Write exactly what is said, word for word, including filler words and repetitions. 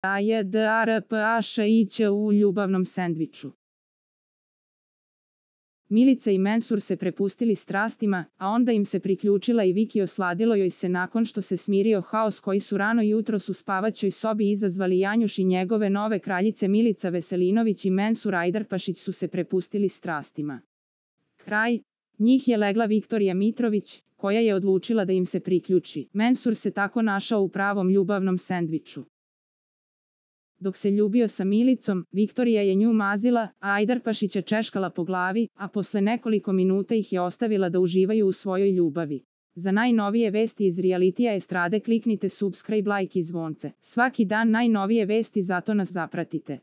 A J D A R P A Š I Ć u ljubavnom sendviču. Milica i Mensur se prepustili strastima, a onda im se priključila i Viki. Osladilo joj se nakon što se smirio haos koji su rano jutros u spavaćoj sobi izazvali Janjuš i njegove nove kraljice. Milica Veselinović i Mensur Ajdarpašić su se prepustili strastima. Kraj. Njih je legla Viktorija Mitrović, koja je odlučila da im se priključi. Mensur se tako našao u pravom ljubavnom sendviču. Dok se ljubio sa Milicom, Viktorija je nju mazila, a Ajdarpašića češkala po glavi, a posle nekoliko minuta ih je ostavila da uživaju u svojoj ljubavi. Za najnovije vesti iz realitija estrade kliknite subscribe, like i zvonce. Svaki dan najnovije vesti, zato nas zapratite.